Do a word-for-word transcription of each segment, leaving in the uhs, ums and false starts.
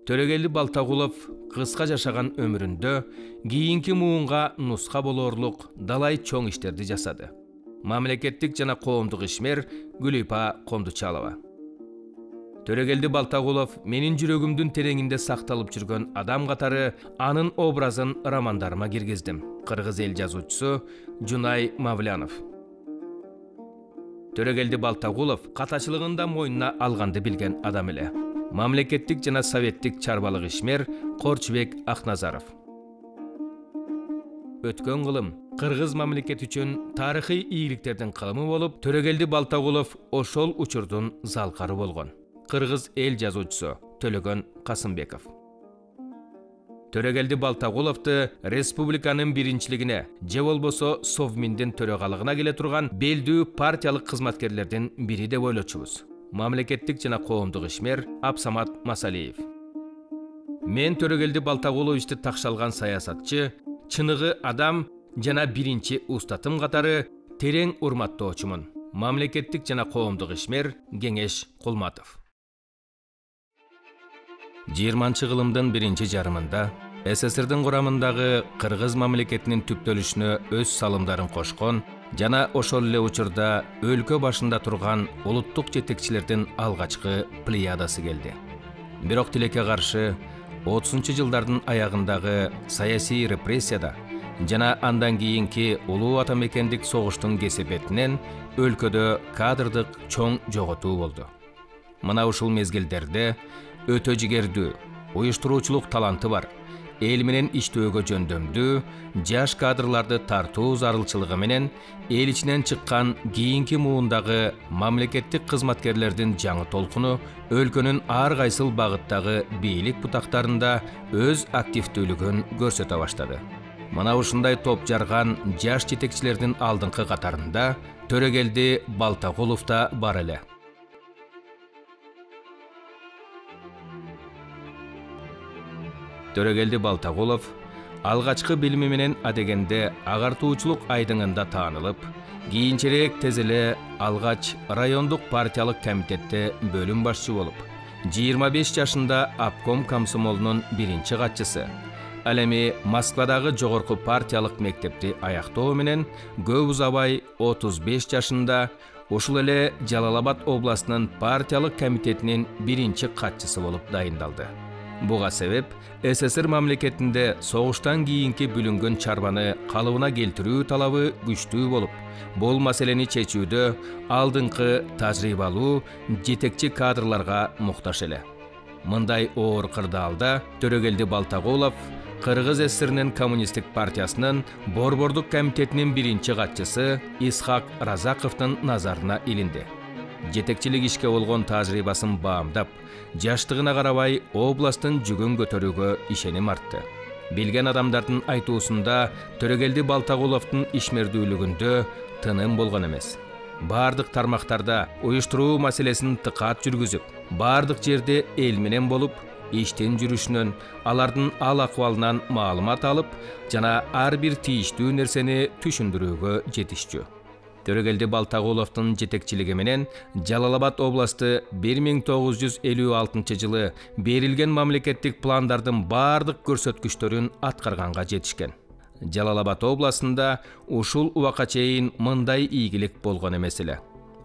Төрөгелди Балтагулов кыска жашаган өмүрүндө кийинки муунга нуска болоорлук далай чоң иштерди жасады. Мамлекеттик жана коомдук ишмер Гүлипа Кондучалова. Төрөгелди Балтагулов менин жүрөгүмдүн тереңинде сакталып жүргөн адам катары анын образын романдарыма киргиздим. Кыргыз эл жазуучусу Жунай Мавлянов. Төрөгелди Балтагулов катачылыгында мойнуна алганды билген адам эле. Мамлекеттик жана советтик чарбалык ишмер Корчубек Акназаров. Өткөн кылым кыргыз мамлекети үчүн тарыхый ийгиликтердин кылымы болуп, Төрөгелди Балтагулов ошол учурдун залкары болгон. Кыргыз эл жазуучусу Төлөгөн Касымбеков. Төрөгелди Балтагуловду республиканын биринчилигине же болбосо Совминдин төрөгалыгына келе турган белдүү партиялык кызматкерлердин бири деп ойлочубуз. Мамлекеттик жана коомдук ишмер Абсамат Масалиев. Мен Төрөгелди Балтагуловичти такшалган саясатчы, чыныгы адам жана биринчи устатым катары терең урматтоочумун. Мамлекеттик жана коомдук ишмер Кеңеш Кулматов. жыйырманчы кылымдын биринчи жарымында СССРдин курамындагы Кыргыз мамлекетинин түптөлүшүнө өз салымдарын кошкон жана ошол эле учурда өлкө башында турган улуттук жетекчилердин алгачкы плеядасы келди. Бирок тилекке каршы отузунчу жылдардын аягындагы саясий репрессияда жана андан кийинки улуу ата мекендик согуштун кесепетинен өлкөдө кадрдык чоң жоготуу болду. Мына ушул мезгилдерде өтө жигердүү, уюштуруучулук таланты бар, эл менен иштөөгө жөндөмдүү, жаш кадрларды тартуу зарылчылыгы менен эл ичинен чыккан кийинки муундагы мамлекеттик кызматкерлердин жаңы толкуну өлкөнүн ар кайсыл багыттагы бийлик бутактарында өз активдүүлүгүн көрсөтө баштады. Мына ушундай топ жарган жаш жетекчилердин алдыңкы катарында Төрөгелди Балтагулов да бар эле. Төрөгелди Балтагулов алгачкы билими менен адегенде агартуучулук айдыңында таанылып, кийинчерээк тез эле алгач райондук партиялык комитетте бөлүм башчы болуп, жыйырма беш жашында обком комсомолунун биринчи катчысы, ал эми Москвадагы жогорку партиялык мектепти аяктоо менен көп узабай отуз беш жашында ушул эле Жалал Абад областынын партиялык комитетинин биринчи катчысы болуп дайындалды. Буга себеп СССР мамлекетинде согуштан кийинки бүлүнгөн чарбаны калыбына келтирүү талабы күчтүү болуп, бул маселени чечүүдө алдыңкы тажрыйбалуу жетекчи кадрларга муктаж эле. Мындай оор кырдаалда Төрөгелди Балтагулов Кыргыз СССРинин коммунисттик партиясынын борбордук комитетинин биринчи катчысы Исхак Разаковдун назарына илинди. Жетекчилик ишке болгон тажрыйбасын баамдап, жаштыгына карабай областтын жүгүн көтөрүүгө ишеним артты. Билген адамдардын айтуусунда Төрөгелди Балтагуловдун ишмердүүлүгүндө тыным болгон эмес. Бардык тармактарда уюштуруу маселесин тыкаат жүргүзүп, бардык жерде эл менен болуп, иштин жүрүшүнөн, алардын ал акыбалынан маалымат алып, жана ар бир тийиштүү нерсени түшүндүрүүгө жетишчү. Төрөгелди Балтагуловдун жетекчилиги менен Жалал Абад областы бир миң тогуз жүз элүү алтынчы жылы берилген мамлекеттик пландардын бардык көрсөткүчтөрүн аткарганга жетишкен. Жалал Абад областында ушул убакка чейин мындай ийгилик болгон эмес эле.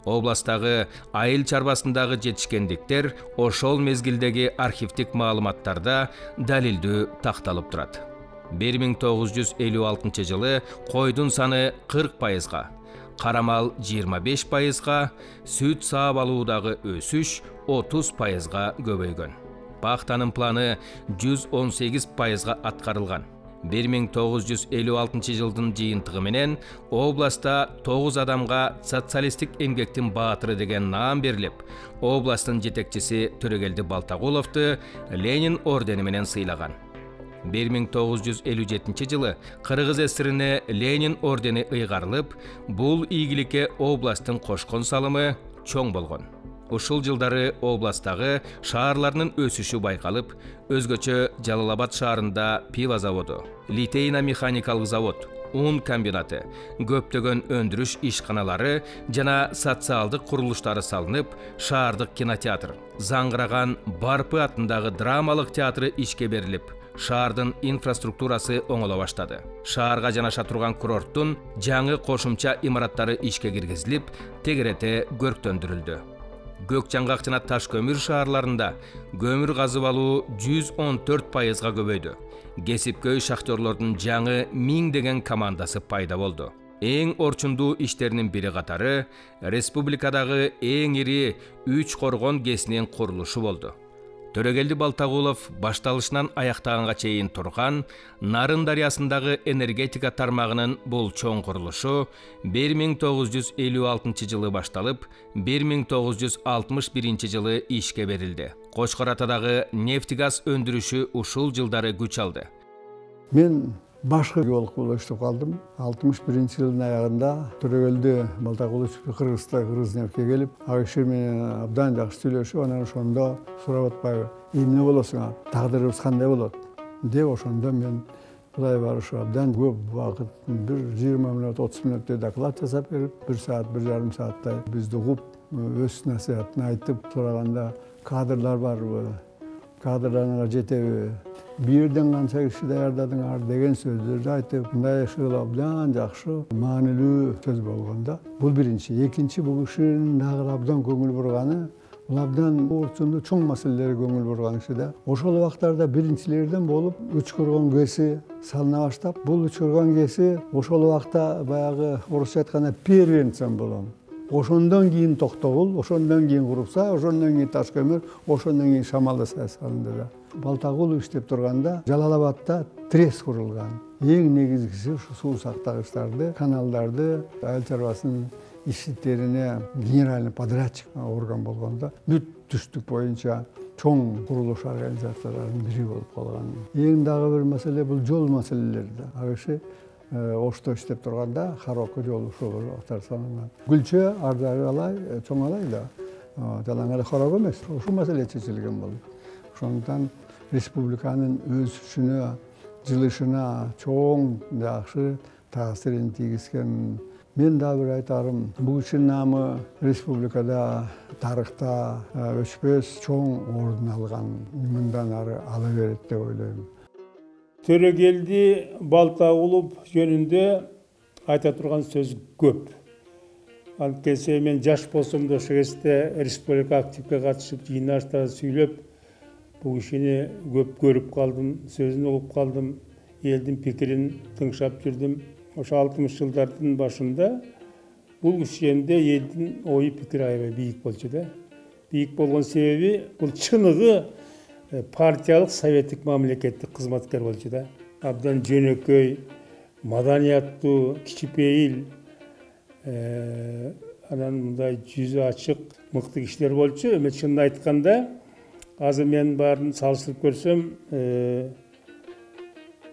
Областагы айыл чарбасындагы жетишкендиктер ошол мезгилдеги архивдик маалыматтарда далилдүү такталып турат. бир миң тогуз жүз элүү алтынчы жылы койдун саны кырк пайызга, карамал жыйырма беш пайызга, сүт саап алуудагы өсүш отуз пайызга көбөйгөн. Пахтанын планы жүз он сегиз пайызга аткарылган. бир миң тогуз жүз элүү алтынчы жылдын жыйынтыгы менен областта тогуз адамга социалисттик эмгектин баатыры деген наам берилип, областтын жетекчиси Төрөгелди Балтагуловду Ленин ордени менен сыйлаган. бир миң тогуз жүз элүү жетинчи жылы Кыргыз СССРине Ленин ордени ыйгарылып, бул ийгиликке областтын кошкон салымы чоң болгон. Ушул жылдары областтагы шаарлардын өсүшү байкалып, өзгөчө Жалал Абад шаарында пиво заводу, Литейна механикалык завод, ун комбинаты, көптөгөн өндүрүш ишканалары жана социалдык курулуштары салынып, шаардык кинотеатр, Заңгыраган Барпы атындагы драмалык театры ишке берилип, шаардын инфраструктурасы оңоло баштады. Шаарга жанаша турган курорттун жаңы кошумча имараттары ишке киргизилип, тегерете көрктөндүрүлдү. Көк жаңгак жана таш көмүр шаарларында көмүр казып алуу жүз он төрт пайызга көбөйдү. Кесипкөй шахтерлордун жаңы миңдеген командасы пайда болду. Эң орчундуу иштеринин бири катары республикадагы эң ири үч коргон кесинин курулушу болду. Төрөгелди Балтагулов башталышынан аяктаганга чейин турган Нарын дарыясындагы энергетика тармагынын бул чоң курулушу бир миң тогуз жүз элүү алтынчы жылы башталып, бир миң тогуз жүз алтымыш биринчи жылы ишке берилди. Кочкор Атадагы нефть газ өндүрүшү ушул жылдары күч алды. Мен башкы геолог болуп иштеп калдым. алтымыш биринчи жылдын аягында Төрөгелди Балтагулов Кыргызда Кыргызнефтке келип, ал киши менен абдан жакшы сүйлөшүп, анан ошондо сурап атпайбы, эмне болосуңар, тагдырыбыз кандай болот деп, ошондо мен Кудай барышы абдан көп убакыт, бир жыйырма мүнөт, отуз мүнөттөй доклад жасап берип, бир саат, бир жарым сааттай бизди угуп, өз насаатын айтып сураганда, кадрлар барбы, кадрларыңар жетеби, бир жерден канча киши даярдадыңар деген сөздөрдү айтып, мындай ушул абдан жакшы, маанилүү сөз болгондо. Бул биринчи. Экинчи, бул кишинин дагы абдан көңүл бурганы, бул абдан орчундуу чоң маселелерге көңүл бурган киши да. Ошол убактарда биринчилерден болуп, үч коргон кеси салына баштап, бул үч коргон кеси ошол убакта баягы орусча айтканда первенцем болом. Ошондон кийин Токтогул, ошондон кийин Курукса, ошондон кийин Таш көмүр, ошондон кийин Шамалда салынды да. Балтагулов иштеп турганда Жалал-Абадта трес курулган. Эң негизгиси ушу суу сактагычтарды, каналдарды, айыл чарбасынын иштерине генеральный подрядчик орган болгондо бүт түштүк боюнча чоң курулуш организацияларынын бири болуп калган. Эң дагы бир маселе бул жол маселелери да. Ал киши Ошто иштеп турганда Харокко жол ушул актар салынган. Гүлчө ардагы алай, чоң алай да. Жалаң эле Харокко эмес. Ушул маселе чечилген болду. Ошондон республиканын өсүшүнө, жылышына чоң жакшы таасирин тийгизген. Мен да бир айтарым, бул кишинин наамы республикада, тарыхта өчпөс чоң ордун алган. Мындан ары ала берет деп ойлойм. Төрөгелди Балтагулов жөнүндө айта турган сөз көп. Анткени мен жаш болсом да ошол кезде республика активге катышып, жыйналыштарда сүйлөп, бул кишини көп көрүп калдым, сөзүн угуп калдым, элдин пикирин тыңшап жүрдүм. Ошо алтымыш жылдардын башында бул киши жөнүндө элдин ою пикири аябай бийик болчу да. Бийик болгон себеби бул чыныгы партиялык советтик мамлекеттик кызматкер болчу да. Абдан жөнөкөй, маданияттуу, кичипейил, анан мындай жүзү ачык, мыкты кишилер болчу. Эми чынын айтканда, азыр мен баарын салыштырып көрсөм,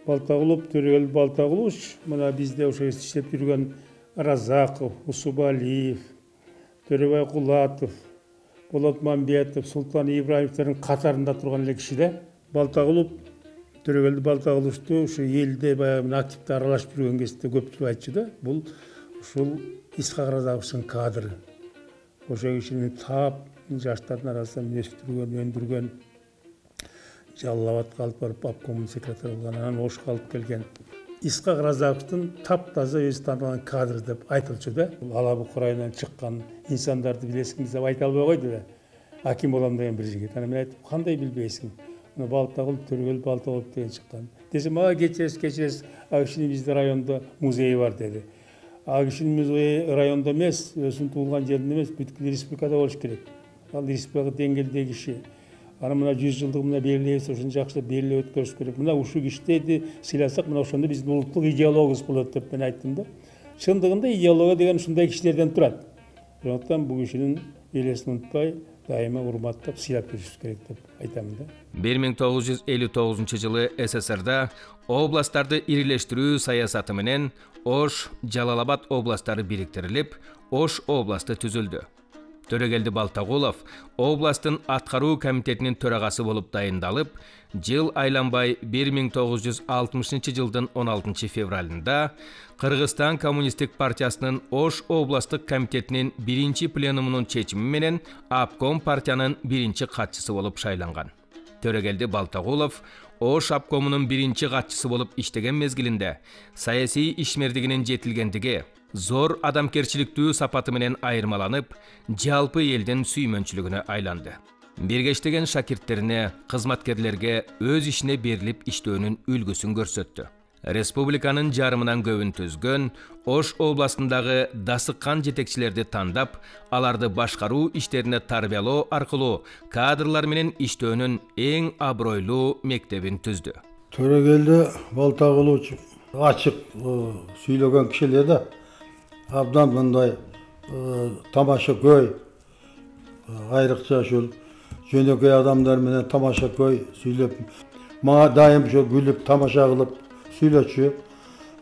Балтагулов, Төрөгелди Балтагулов, мына бизде ошо иштеп жүргөн Разаков, Усубалиев, Төрөбай Кулатов, Болот Мамбетов, Султан Ибраевдердин катарында турган эле киши да. Балтагулов, Төрөгелди Балтагуловду ушу элде баягы активдүү аралашып жүргөн кезде көпчүлүк айтчу да. Бул ушул Исхак Разаковдун кадры. Ошо кишини тап жаштардын арасында өстүргөн, өндүргөн, Жалал-Абадка алып барып обкомдун секретары болгон, анан Ошко алып келген. Исхак Разаковдун таптаза өзү таанылган кадр деп айтылчу да. Ала Бук районунан чыккан инсандарды билесиңиз деп айта албай койду да. Аким болом деген бир жигит. Анан мен айттым, кандай билбейсиң? Мына Балтагулов, Төрөгелди Балтагулов деген чыккан. Десем, а кечиресиз, кечиресиз, ал кишинин бизде райондо музейи бар деди. Ал кишинин музейи райондо эмес, өзүнүн туулган жеринде эмес, бүткүл республикада болуш керек. Ал республика деңгээлдеги киши. Аны мына жүз жылдык мына белгилейбиз, ошону жакшылап белгилеп өткөрүш керек. Мына ушул кишиди сыйласак, мына ошондо биздин улуттук идеологиябыз болот деп мен айттым да. Чындыгында идеология деген ушундай кишилерден турат. Ошондуктан бул кишинин элесин унутпай, дайыма урматтап, сыйлап жүрүш керек деп айтам да. бир миң тогуз жүз элүү тогузунчу жылы СССРда областтарды ирилештирүү саясаты менен Ош, Жалал-Абад областтары бириктирилип, Ош областы түзүлдү. Төрөгелди Балтагулов областтын аткаруу комитетинин төрагасы болуп дайындалып, жыл айланбай бир миң тогуз жүз алтымышынчы жылдын он алтынчы февралында Кыргызстан Коммунисттик партиясынын Ош областтык комитетинин биринчи пленумунун чечими менен обком партиянын биринчи катчысы болуп шайланган. Төрөгелди Балтагулов Ош обкомунун биринчи катчысы болуп иштеген мезгилинде саясий ишмердигинин жетилгендиги, зор адамкерчиликтүү сапаты менен айырмаланып, жалпы элдин сүймөнчүлүгүнө айланды. Биргештеген шакирттерине, кызматкерлерге өз ишине берилип иштөөнүн үлгүсүн көрсөттү. Республиканын жарымынан көбүн түзгөн, Ош областындагы дасыккан жетекчилерди тандап, аларды башкаруу иштерине тарбиялоо аркылуу кадрлар менен иштөөнүн эң абройлуу мектебин түздү. Төрөгелди Балтагулович ачык сүйлөгөн киши эле да. Абдан мындай тамаша көй, айрыкча ушул жөнөкөй адамдар менен тамаша көй сүйлөп, мага дайым ошо күлүп, тамаша кылып сүйлөчү.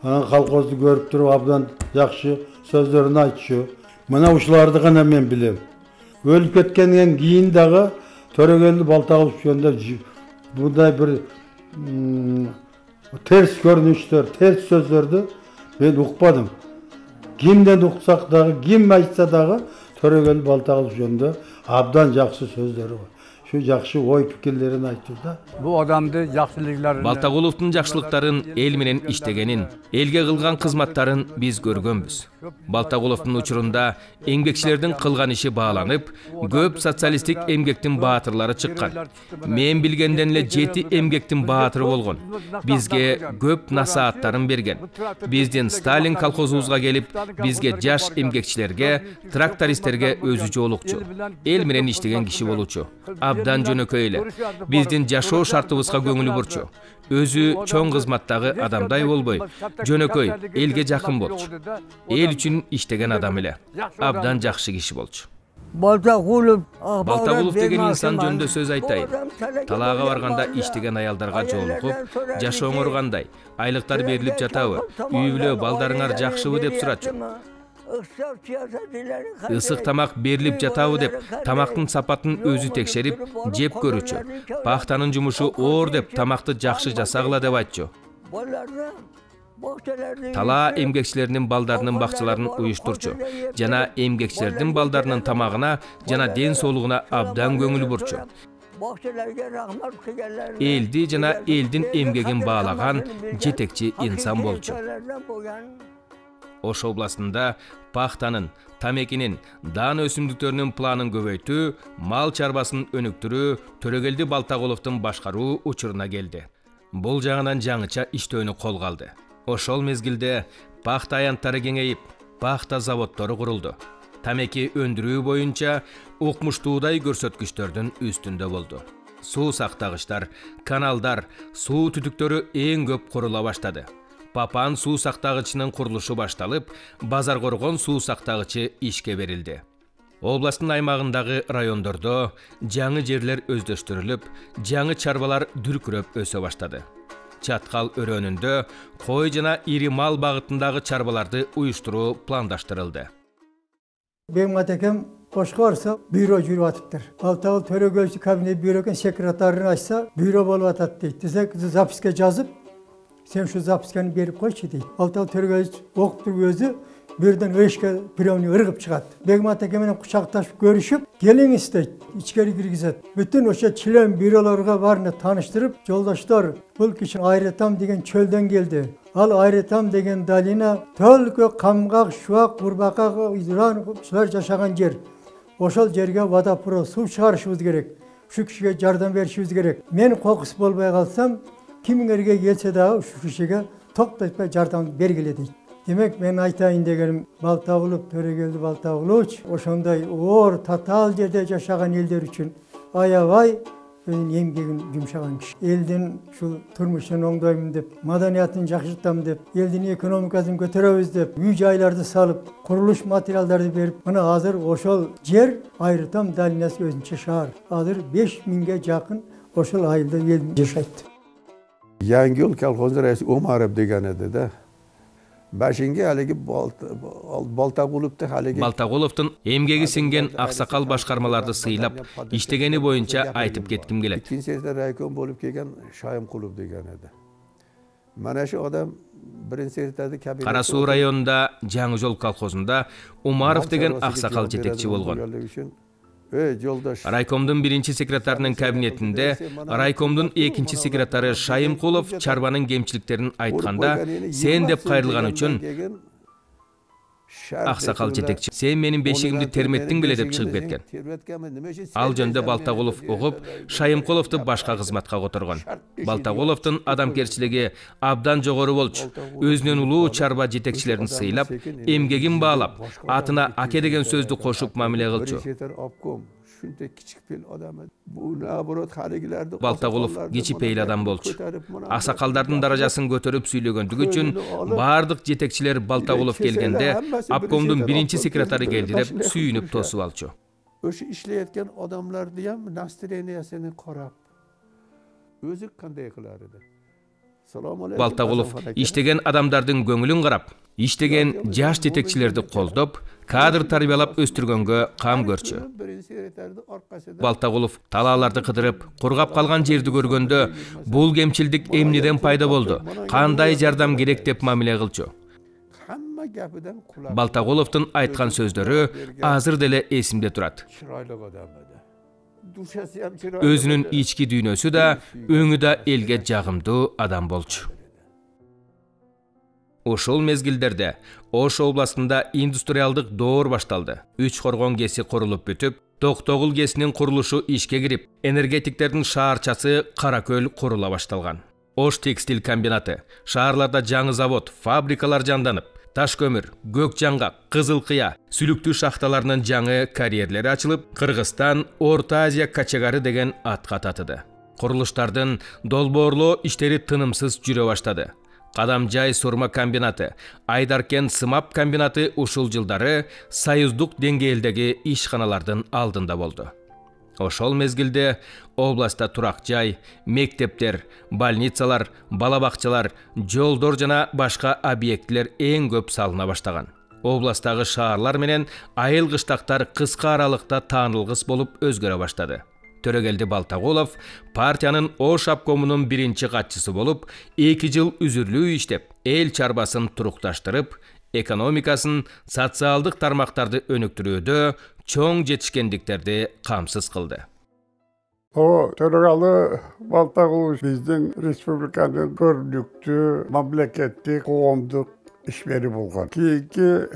Анан колхозду көрүп туруп абдан жакшы сөздөрүн айтчу. Мына ушуларды гана мен билем. Өлүп кеткенден кийин дагы Төрөгелди Балтагулов жөнүндө мындай бир терс көрүнүштөр, терс сөздөрдү мен укпадым. Кимден уксак дагы, ким айтса дагы Төрөгелди Балтагулов жөнүндө абдан жакшы сөздөрү бар. Şu жакшы ой пикирлерин айтты да. Bu adamды жакшылыктарын Балтагуловдун жакшылыктарын, эл менен иштегенин, элге кылган кызматтарын биз көргөнбүз. Балтагуловдун учурунда эмгекчилердин кылган иши бааланып, көп социалисттик эмгектин баатырлары чыккан. Мен билгенден эле жети эмгектин баатыры болгон. Бизге көп насааттарын берген. Биздин Сталин колхозубузга келип, бизге жаш эмгекчилерге, трактористтерге өзү жоолукчу, эл менен иштеген киши болчу. Абдан жөнөкөй эле. Биздин жашоо шартыбызга көңүлү бурчу. Өзү чоң кызматтагы адамдай болбой, жөнөкөй, элге жакын болчу. Эл үчүн иштеген адам эле. Абдан жакшы киши болчу. Балтагулов Балтагулов деген инсан жөнүндө сөз айтайын. Талаага барганда иштеген аялдарга жолугуп, жашооңор кандай, айлыктар берилип жатабы, үй бүлө балдарыңар жакшыбы деп сурачу. Ысык тамак берилип жатабы деп, тамактын сапатын өзү текшерип, жеп көрүчү. Пахтанын жумушу оор деп, тамакты жакшы жасагыла деп айтчу. Талаа эмгекчилеринин балдарынын бакчаларын уюштурчу. Жана эмгекчилердин балдарынын тамагына жана ден соолугуна абдан көңүл бурчу. Элди жана элдин эмгегин баалаган жетекчи инсан болчу. Ош областында пахтанын, тамекинин, даан өсүмдүктөрүнүн планын көбөйтүү, мал чарбасын өнүктүрүү Төрөгелди Балтагуловдун башкаруу учуруна келди. Бул жагынан жаңыча иштөөнү колго алды. Ошол мезгилде пахта аянттары кеңейип, пахта заводдору курулду. Тамеки өндүрүү боюнча укмуштуудай көрсөткүчтөрдүн үстүндө болду. Суу сактагычтар, каналдар, суу түтүктөрү эң көп курула баштады. Папан суу сактагычынын курулушу башталып, Базар Коргон суу сактагычы ишке берилди. Областтын аймагындагы райондордо жаңы жерлер өздөштүрүлүп, жаңы чарбалар дүркүрөп өсө баштады. Чаткал өрөөнүндө кой жана ири мал багытындагы чарбаларды уюштуруу пландаштырылды. Бегмат экем Ошко барса, бюро жүрүп атыптыр. Балтагул Төрөгөлчү кабинет бюроген секретарын ачса, бюро болуп атат дейт. Десек, записке жазып, сен şu запискени берип койчу дейт. Балтагул Төрөгөлчү окуп туруп өзү бирден эшикке бирөөнү ыргып чыгат. Бегмат эке менен кучакташып көрүшүп, келиңиз дейт, ичкери киргизет. Бүтүн ошо член бюролорго баарына тааныштырып, жолдоштор, бул киши Айретам деген чөлдөн келди. Ал Айретам деген долина только камгак, шуак, курбака, изран ушулар жашаган жер. Ошол жерге водопровод суу чыгарышыбыз керек. Ушу кишиге жардам беришибиз керек. Мен кокус болбой калсам, кимиңерге келсе дагы ушу кишиге токтотпой жардам бергиле дейт. Демек мен айтайын дегеним, Балтагулов Төрөгелди Балтагулович ошондой оор татаал жерде жашаган элдер үчүн аябай өзүнүн эмгегин жумшаган киши. Элдин ушул турмушун оңдоймун деп, маданиятын жакшыртам деп, элдин экономикасын көтөрөбүз деп, үй жайларды салып, курулуш материалдарды берип, мына азыр ошол жер Айретам долинасы өзүнчө шаар. Азыр беш миңге жакын ошол айылда эл жашайт. Жаңы ел колхозу раиси Омаров деген эди да. башинге алиги Балтагуловду алиги Балтагуловдун эмгеги сиңген аксакал башкармаларды сыйлап иштегени боюнча айтып кетким келет. Экинчи секретарь райком болуп келген Шайымкулов деген эди. Мана шу адам биринчи секретарды кабинет Кара Суу районунда Жаңы жол колхозунда Умаров деген аксакал жетекчи болгон. Эй, жолдош. Райкомдун биринчи секретарынын кабинетинде райкомдун экинчи секретары Шайымкулов чарбанын кемчиликтерин айтканда, сен деп кайрылган үчүн аксакал жетекчи, сен менин бешигимди терметтиң беле деп чыгып кеткен. Ал жөнүндө Балтагулов угуп, Шайымкуловду башка кызматка которгон. Балтагуловдун адамгерчилиги абдан жогору болчу. Өзүнүн улуу чарба жетекчилерин сыйлап, эмгегин баалап, атына аке деген сөздү кошуп мамиле кылчу. Балтагулов кичипейил адам болчу. Аксакалдардын даражасын көтөрүп сүйлөгөндүгү үчүн бардык жетекчилер Балтагулов келгенде обкомдун биринчи секретары келди деп сүйүнүп тосуп алчу. Өшү иштейотган адамдарды ham настроениясын карап, өзү кандай кылар эди? Балтагулов иштеген адамдардын көңүлүн карап, иштеген жаш жетекчилерди колдоп, кадр тарбиялап өстүргөнгө кам көрчү. Балтагулов талааларды кыдырып, кургап калган жерди көргөндө, бул кемчилдик эмнеден пайда болду, кандай жардам керек деп мамиле кылчу. Балтагуловдун айткан сөздөрү азыр деле эсимде турат. Өзүнүн ички дүйнөсү да, өңү да элге жагымдуу адам болчу. Ошол мезгилдерде Ош областында индустриалдык доор башталды. Үч коргон кеси курулуп бүтүп, Токтогул кесинин курулушу ишке кирип, энергетиктердин шаарчасы Каракөл курула башталган. Ош текстиль комбинаты, шаарларда жаңы завод, фабрикалар жанданып, таш көмүр, көк жаңгак, кызыл кыя, сүлүктүү шахталарынын жаңы карьерлери ачылып, Кыргызстан Орто Азия качагары деген атка татыды. Курулуштардын долбоорлоо иштери тынымсыз жүрө баштады. Кадамжай сурма комбинаты, Айдаркен сымап комбинаты ушул жылдары союздук деңгээлдеги ишканалардын алдында болду. Ошол мезгилде областта турак жай, мектептер, больницалар, бала бакчалар, жолдор жана башка объектилер эң көп салына баштаган. Областтагы шаарлар менен айыл кыштактар кыска аралыкта таанылгыс болуп өзгөрө баштады. Төрөгелди Балтагулов партиянын Ош обкомунун биринчи катчысы болуп, эки жыл үзүрлүү иштеп, эл чарбасын турукташтырып, экономикасын, социалдык тармактарды өнүктүрүүдө чоң жетишкендиктерди камсыз кылды. О, төрөгалы Балтагулов биздин республиканын көрүнүктүү мамлекеттик коомдук ишмери болгон. Кийинки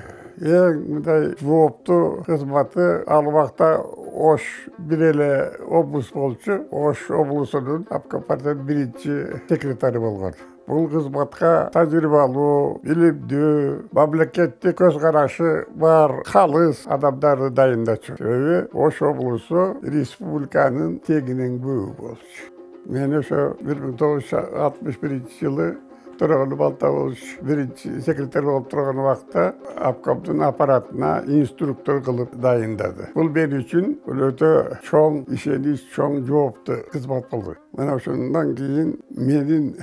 эң мындай жооптуу кызматы ал убакта Ош бир эле облус болчу. Ош облусунун обком партиянын биринчи секретары болгон. Бул кызматка тажрыйбалуу, билимдүү, мамлекеттик көз карашы бар калыс адамдарды дайындачу. Себеби Ош облусу республиканын тегинен көбү болчу. Мен ошо бир миң тогуз жүз алтымыш биринчи жылы Төрөгалы Балтагулов биринчи секретарь болуп турган убакта обкомдун аппаратына инструктор кылып дайындады. Бул мен үчүн өтө чоң ишенич, чоң жооптуу кызмат болду. Мына ошондон кийин менин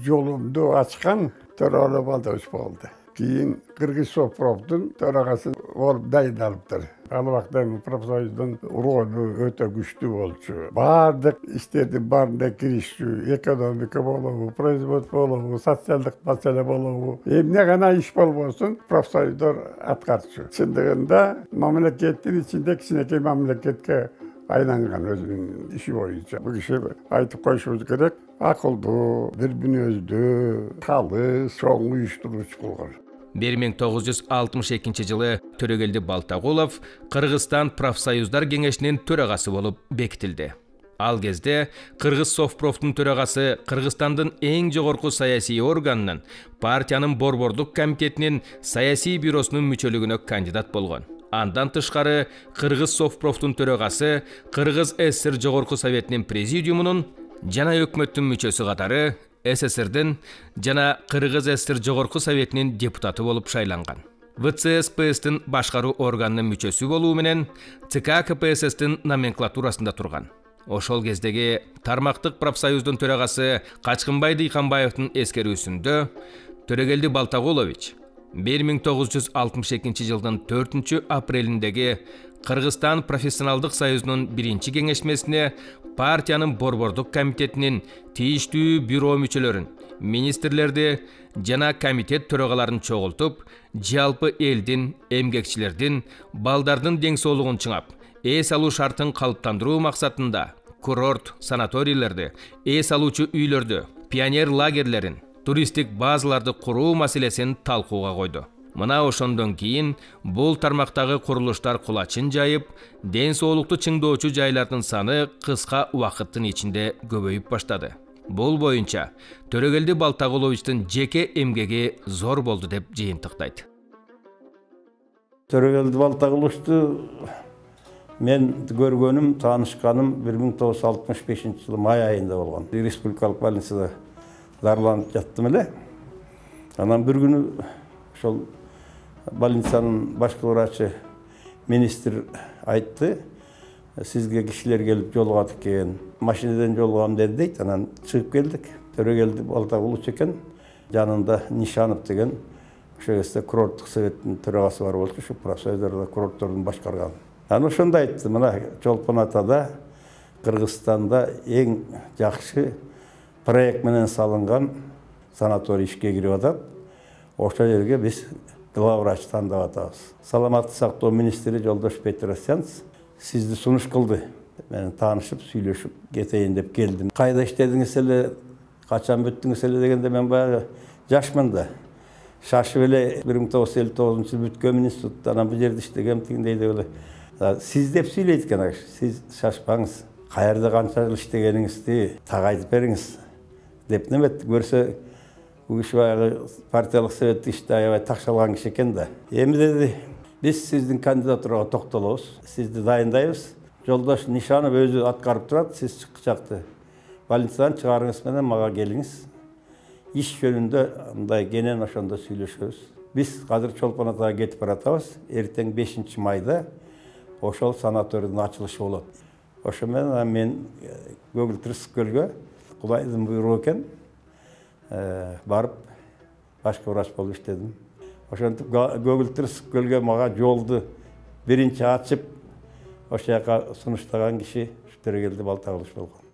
жолумду ачкан Төрөгалы Балтагулов болду. Кийин Кыргыз Совпромдун төрагасы болуп дайындалыптыр. Ал убакта профсоюздун ролу өтө күчтүү болчу. Бардык иштердин баарына киришчү, экономика болобу, производство болобу, социалдык маселе болобу, эмне гана иш болбосун профсоюздар аткарчу. Чындыгында мамлекеттин ичинде кичинекей мамлекетке айланган өзүнүн иши боюнча. Бул киши айтып коюшубуз керек, акылдуу, бир мүнөздүү, калыс, чоң уюштуруучу болгон. бир миң тогуз жүз алтымыш экинчи жылы Төрөгелди Балтагулов Кыргызстан профсоюздар кеңешинин төрагасы болуп бекитилди. Ал кезде Кыргыз Совпрофтун төрагасы Кыргызстандын эң жогорку саясий органынын, партиянын борбордук комитетинин саясий бюросунун мүчөлүгүнө кандидат болгон. Андан тышкары Кыргыз Совпрофтун төрагасы Кыргыз СССР жогорку советинин президиумунун жана өкмөттүн мүчөсү катары СССРдин жана Кыргыз СССР жогорку советинин депутаты болуп шайланган. ВЦСПСтин башкаруу органынын мүчөсү болуу менен ЦК КПССтин номенклатурасында турган. Ошол кездеги тармактык профсоюздун төрагасы Качкынбай Дыйканбаевдин эскерүүсүндө Төрөгелди Балтагулович бир миң тогуз жүз алтымыш экинчи жылдын төртүнчү апрелиндеги Кыргызстан профессионалдык союзунун биринчи кеңешмесине партиянын борбордук комитетинин тийиштүү бюро мүчөлөрүн, министрлерди жана комитет төрагаларын чогултуп, жалпы элдин, эмгекчилердин, балдардын дең соолугун чыңап, эс алуу шартын калыптандыруу максатында курорт, санаторийлерди, эс алуучу үйлөрдү, пионер лагерлерин, туристтик базаларды куруу маселесин талкууга койду. Мына ошондон кийин бул тармактагы курулуштар кулачын жайып, ден соолукту чыңдоочу жайлардын саны кыска убакыттын ичинде көбөйүп баштады. Бул боюнча Төрөгелди Балтагуловичтин жеке эмгеги зор болду деп жыйынтыктайт. Төрөгелди Балтагуловичту мен көргөнүм, таанышканым бир миң тогуз жүз алтымыш бешинчи жылы май айында болгон. Республикалык больницада дарыланып жаттым эле. Анан бир күнү ошол больницанын башкы врачы министр айтты, сизге кишилер келип жолугат экен. Машинеден жолугам деди дейт. Анан чыгып келдик. Төрөгелди Балтагулович экен, жанында Нишанов деген ошол кезде курорттук советтин төрагасы бар болчу, ушу профсоюздарда курорттордун башкарган. Анан ошондо айтты, мына Чолпон Атада Кыргызстанда эң жакшы проект менен салынган санаторий ишке кирип атат. Ошол жерге биз главврач тандап атабыз. Саламаттык сактоо министри Жолдош Петросянц сизди сунуш кылды. Мен таанышып, сүйлөшүп кетейин деп келдим. Кайда иштедиңиз эле, качан бүттүңүз эле дегенде мен баягы жашмын да. Шашып эле бир миң тогуз жүз элүү тогузунчу жылы бүткөм институтта, анан бул жерде иштегем дегендей деп эле. Сиз деп сүйлөйт экен аш. Сиз шашпаңыз. Каерде канча жыл иштегениңизди так айтып бериңиз деп неметти. Көрсө бул киши баягы партиялык советтик иште аябай такшалган киши экен да. Эми деди, биз сиздин кандидатурага токтолобуз, сизди дайындайбыз. Жолдош Нишанов өзү аткарып турат, сиз чыкчакты больницадан чыгарыңыз менен мага келиңиз. Иш жөнүндө мындай кенен ошондо сүйлөшөбүз. Биз азыр Чолпон Атага кетип баратабыз. Эртең бешинчи майда ошол санаторийдин ачылышы болот. Ошо менен мен Көгүл-Тырсык көлгө Кудайдын буйругу экен, барып башкы врач болуп иштедим. Ошентип Көгүл-Тырсык көлгө мага жолду биринчи ачып, ошол жака сунуштаган киши Төрөгелди Балтагулович болгон.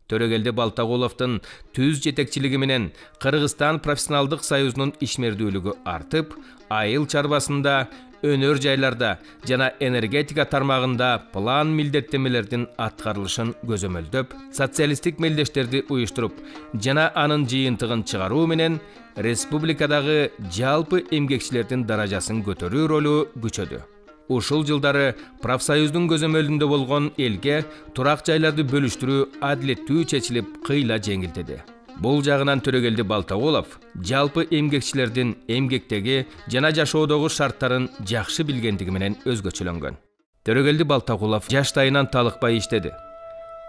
Төрөгелди Балтагуловдун түз жетекчилиги менен Кыргызстан профессионалдык союзунун ишмердүүлүгү артып, айыл чарбасында, өнөр жайларда жана энергетика тармагында план милдеттемелердин аткарылышын көзөмөлдөп, социалисттик мелдештерди уюштуруп жана анын жыйынтыгын чыгаруу менен республикадагы жалпы эмгекчилердин даражасын көтөрүү ролу күчөдү. Ушул жылдары профсоюздун көзөмөлүндө болгон элге турак жайларды бөлүштүрүү адилеттүү чечилип, кыйла жеңилдеди. Бул жагынан Төрөгелди Балтагулов жалпы эмгекчилердин эмгектеги жана жашоодогу шарттарын жакшы билгендиги менен өзгөчөлөнгөн. Төрөгелди Балтагулов жаштайынан талыкпай иштеди.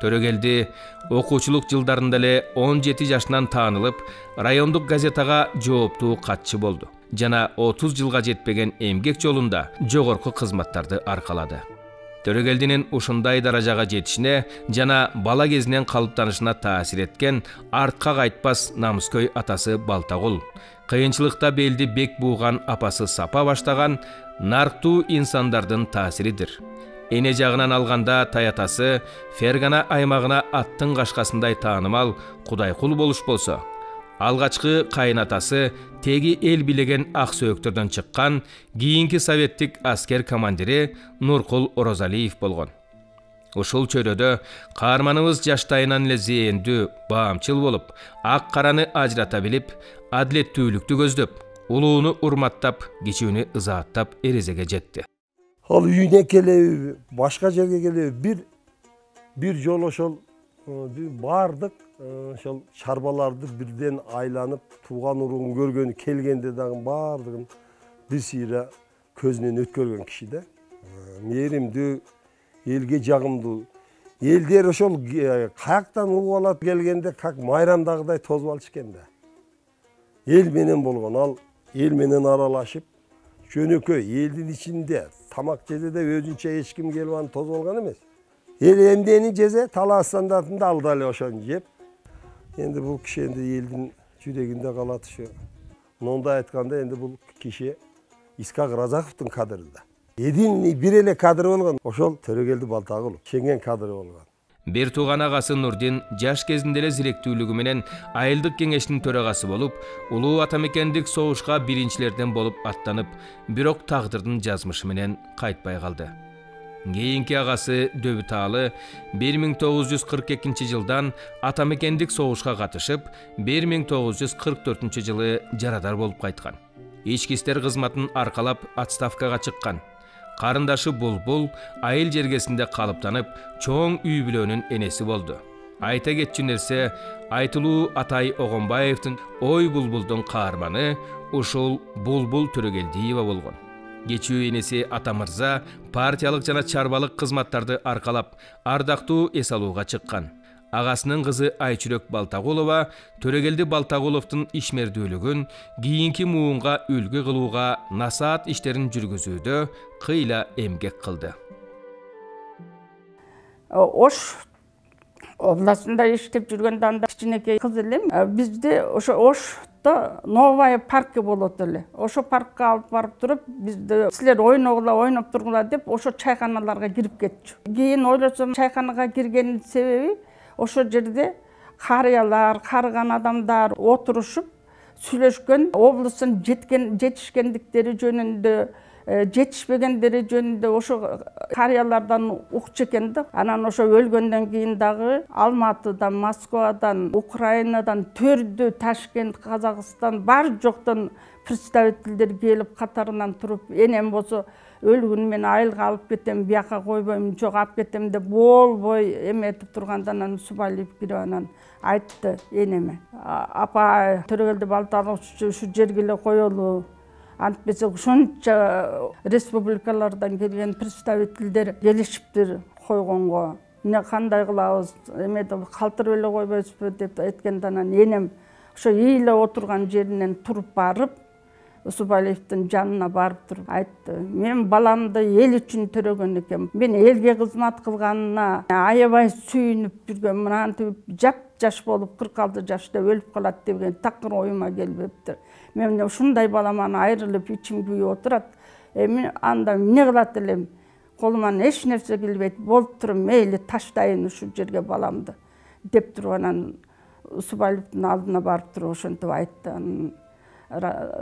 Төрөгелди окуучулук жылдарында эле он жети жашынан таанылып, райондук газетага жооптуу катчы болду жана отуз жылга жетпеген эмгек жолунда жогорку кызматтарды аркалады. Төрөгелдинин ушундай даражага жетишине жана бала кезинен калыптанышына таасир эткен артка кайтпас намыскөй атасы Балтагул, кыйынчылыкта белди бек бууган апасы Сапа баштаган нарктуу инсандардын таасиридир. Эне жагынан алганда таятасы Фергана аймагына аттын кашкасындай таанымал Кудайкул болуш болсо, алгачкы кайынатасы теги эл билеген ак сөөктөрдөн чыккан кийинки советтик аскер командири Нуркул Орозалиев болгон. Ушул чөйрөдө каарманыбыз жаштайынан эле зээндүү, баамчыл болуп, ак караны ажырата билип, адилеттүүлүктү көздөп, улууну урматтап, кичүүнү ызааттап эрезеге жетти. Ал үйүнө келеби, башка жерге келеби, бир бир жолу ошол бардык ошол чарбаларды бирден айланып, тууган уруун көргөнү келгенде дагы бардыгын бир сыйра көзүнөн өткөргөн киши да. Мээримдүү, элге жагымдуу. Элдер ошол каяктан угуп алат келгенде как майрамдагыдай тозуп алчу экен да. Эл менен болгон, ал эл менен аралашып, жөнөкөй элдин ичинде тамак жеде өзүнчө эч ким келип аны тозуп алган эмес. Эл эмдени жезе, талаа стандартында ал дали ошону жеп. Енді бұл кіші енді елдің жүрегінде қалады, Мондай айтканда энди бул киши Исхак Разаковдун кадыры да. Единый бир эле кадры болгон ошол Төрөгелди Балтагулов, шенген кадры болгон. Бир тууган агасы Нурдин жаш кезинде эле зиректүүлүгү менен айылдык кеңештин төрагасы болуп, улуу атамекендик согушка биринчилерден болуп аттанып, бирок тагдырдын жазмышы менен кайтпай калды. Кийинки агасы Дөбүт Аалы бир миң тогуз жүз кырк экинчи жылдан атамекендик согушка катышып, бир миң тогуз жүз кырк төртүнчү жылы жарадар болуп кайткан. Ички иштер кызматын аркалап отставкага чыккан. Карындашы Булбул айыл жергесинде калыптанып, чоң үй бүлөнүн энеси болду. Айта кетчү нерсе, айтылуу Атай Огонбаевдин Ой Булбулдун каарманы ушул Булбул Төрөгелдиева болгон. Кечүү энеси Атамырза партиялык жана чарбалык кызматтарды аркалап, ардактуу эс алууга чыккан. Агасынын кызы Айчүрөк Балтагулова Төрөгелди Балтагуловдун ишмердүүлүгүн кийинки муунга үлгү кылууга, насаат иштерин жүргүзүүдө кыйла эмгек кылды. Ош областында иштеп жүргөндө анда кичинекей кыз элем. Бизде ошо Ошто новая паркы болот эле. Ошо паркка алып барып туруп, бизде силер ойногула, ойноп тургула деп ошо чайканаларга кирип кетчү. Кийин ойлосом, чайканага киргенин себеби ошо жерде карыялар, карыган адамдар отурушуп сүйлөшкөн, облустун жеткен жетишкендиктери жөнүндө, жетишпегендери жөнүндө ошо карыялардан укчу экен да. Анан ошо өлгөндөн кийин дагы Алматыдан, Москвадан, Украинадан, Төрдү, Ташкент, Казакстан бар жоктон представительдер келип катарынан туруп, энем болсо өлгүн мен айылга алып кетем, бияка койбойм, жок алып кетем деп болбой эметип турганда анан Субалиев кирип анан айтты энеме. Апа, Төрөгелди Балтагулов ушу жерге эле коелу. Антпесе ушунча республикалардан келген представительдер келишиптир койгонго. Эмне кандай кылабыз, эме деп калтырып эле койбойсузбу деп айтканда анан энем ошо ийиле отурган жеринен туруп барып, Субалиевдин жанына барып туруп айтты: "Мен баламды эл үчүн төрөгөн экем. Мен элге кызмат кылганына аябай сүйүнүп жүргөм. Мынантип жап-жаш болуп кырк алты жашта өлүп калат деген такыр оюма келбептир. Мен ушундай баламан айрылып ичим күйүп отурат. Эми анда эмне кылат элем? Колуман эч нерсе келбейт. Болуп туруп мейли таштайын ушу жерге баламды" деп туруп анан Субалиевдин алдына барып туруп ошентип айтты.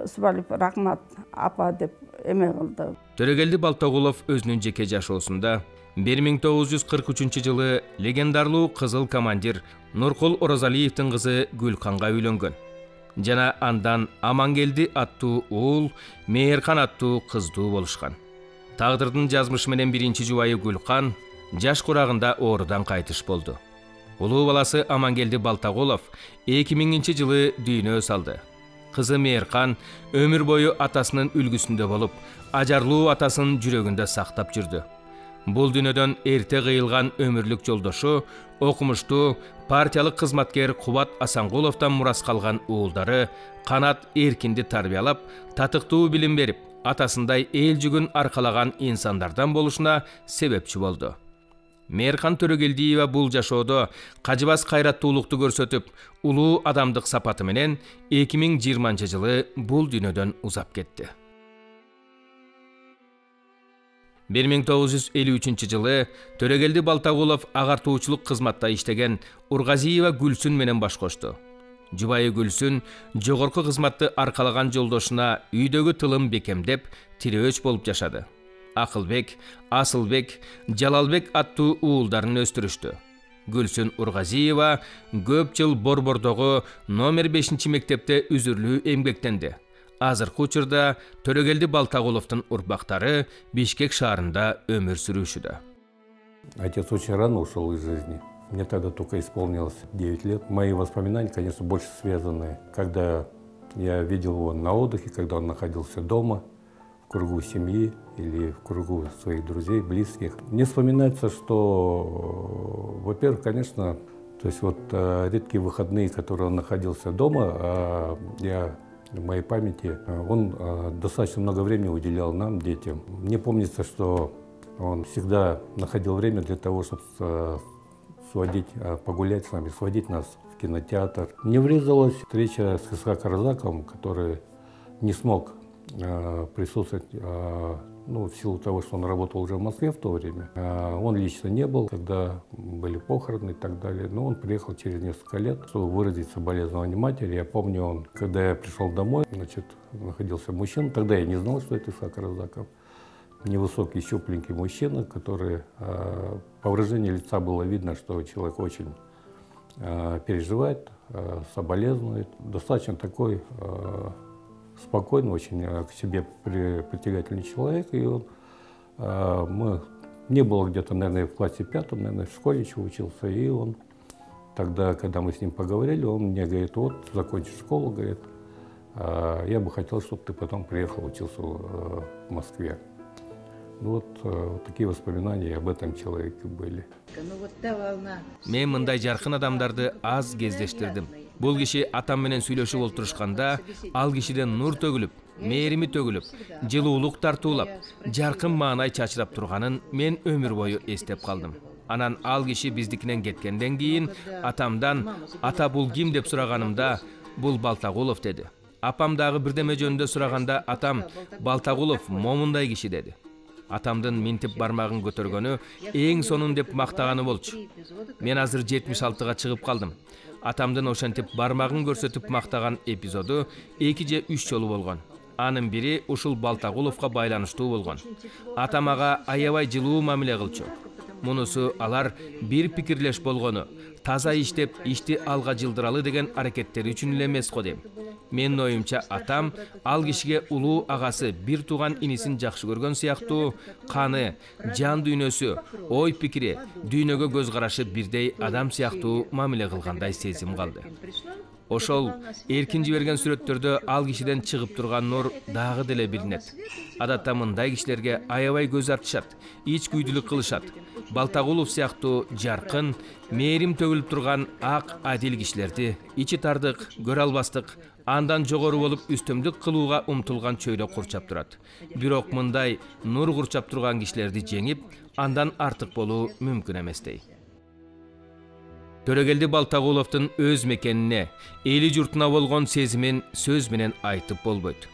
Субалиев рахмат апа деп эме кылды. Төрөгелди Балтагулов өзүнүн жеке жашоосунда бир миң тогуз жүз кырк үчүнчү жылы легендарлуу кызыл командир Нуркул Оразалиевдин кызы Гүлканга үйлөнгөн. Жана андан Амангелди аттуу уул, Мээркан аттуу кыздуу болушкан. Тагдырдын жазмышы менен биринчи жубайы Гүлкан жаш курагында оорудан кайтыш болду. Улуу баласы Амангелди Балтагулов эки миңинчи жылы дүйнө салды. Кызы Мээркан өмүр бою атасынын үлгүсүндө болуп, ажарлуу атасын жүрөгүндө сактап жүрдү. Бул дүйнөдөн эрте кыйылган өмүрлүк жолдошу, окумуштуу партиялык кызматкер Кубат Асангуловдон мурас калган уулдары Канат Эркинди тарбиялап, татыктуу билим берип, атасындай эл жүгүн аркалаган инсандардан болушуна себепчи болду. Мээркан Төрөгелдиева бул жашоодо кажыбас кайраттуулукту көрсөтүп, улуу адамдык сапаты менен эки миң жыйырманчы жылы бул дүйнөдөн узап кетти. бир миң тогуз жүз элүү үчүнчү жылы Төрөгелди Балтагулов агартуучулук кызматта иштеген Ургазиева Гүлсүн менен баш кошту. Жубайы Гүлсүн жогорку кызматты аркалаган жолдошуна үйдөгү тылым бекемдеп, тирөөч болуп жашады. Акылбек, Асылбек, Жалалбек аттуу уулдарын өстүрүштү. Гүлсүн Ургазиева көп жыл Борбордогу номер бешинчи мектепте үзүрлүү эмгектенди. Азыркы учурда Төрөгелди Балтагуловдун урпактары Бишкек шаарында өмүр сүрүүшүдө. Отец очень рано ушел из жизни. Мне тогда только исполнилось девять лет. Мои воспоминания, конечно, больше связаны, когда я видел его на отдыхе, когда он находился дома, в кругу семьи или в кругу своих друзей, близких. Мне вспоминается, что, во-первых, конечно, то есть вот редкие выходные, которые он находился дома, я в моей памяти, он достаточно много времени уделял нам, детям. Мне помнится, что он всегда находил время для того, чтобы сводить, погулять с нами, сводить нас в кинотеатр. Мне врезалась встреча с Исхаком Разаковым, который не смог присутствовать, ну, в силу того, что он работал уже в Москве в то время. Он лично не был, когда были похороны и так далее, но он приехал через несколько лет, чтобы выразить соболезнования матери. Я помню, он, когда я пришел домой, значит, находился мужчина, тогда я не знал, что это Исаак Разаков. Невысокий, щупленький мужчина, который, по выражению лица было видно, что человек очень переживает, соболезнует. Достаточно такой спокойный, очень к себе притягательный человек. И он, мы, мне было где-то, наверное, в классе пятом, наверное, в школе еще учился. И он тогда, когда мы с ним поговорили, он мне говорит: вот, закончишь школу, говорит, я бы хотел, чтобы ты потом приехал, учился в Москве. Ну вот, вот такие воспоминания об этом человеке были. Мен мындай жаркын адамдарды аз кездештирдим. Бул киши атам менен сүйлөшүп олтурушканда, ал кишиден нур төгүлүп, мээрими төгүлүп, жылуулук тартуулап, жаркын маанай чачырап турганын мен өмүр бою эстеп калдым. Анан ал киши биздикинен кеткенден кийин атамдан ата бул ким деп сураганымда, бул Балтагулов деди. Апам дагы бирдеме жөнүндө сураганда атам Балтагулов момундай киши деди. Атамдын минтип бармагын көтөргөнү эң сонун деп мактаганы болчу. Мен азыр жетимиш алтыга чыгып калдым. Атамдын ошентип бармагын көрсөтүп мактаган эпизоду эки же үч жолу болгон. Анын бири ушул Балтагуловго байланыштуу болгон. Атам ага аябай жылуу мамиле кылчу. Мунусу алар бир пикирлеш болгону, таза иштеп, ишти алга жылдыралы деген аракеттери үчүн эле эмес го дейм. Менин оюмча атам ал кишиге улуу агасы, бир тууган инисин жакшы көргөн сыяктуу, каны, жан дүйнөсү, ой пикири, дүйнөгө көз карашы бирдей адам сыяктуу мамиле кылгандай сезим калды. Ошол эркин жиберген сүрөттөрдө ал кишиден чыгып турган нур дагы деле билинет. Адатта мындай кишилерге аябай көз артышат, ич күйдүлүк кылышат. Балтагулов сыяктуу жаркын, мээрим төгүлүп турган ак адил кишилерди ичи тардык, көрө албастык, андан жогору болуп үстөмдүк кылууга умтулган чөйрө курчап турат. Бирок мындай нур курчап турган кишилерди жеңип, андан артык болуу мүмкүн эместей. Төрөгелди Балтагуловдун өз мекенине, эли журтуна болгон сезимин сөз менен айтып болбойт.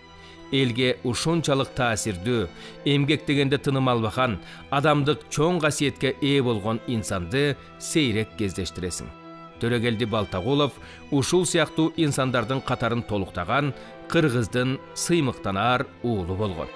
Элге ушунчалык таасирдүү, эмгектегенде тыным албаган, адамдык чоң касиетке ээ болгон инсанды сейрек кездештиресиң. Төрөгелди Балтагулов ушул сыяктуу инсандардын катарын толуктаган кыргыздын сыймыктанар уулу болгон.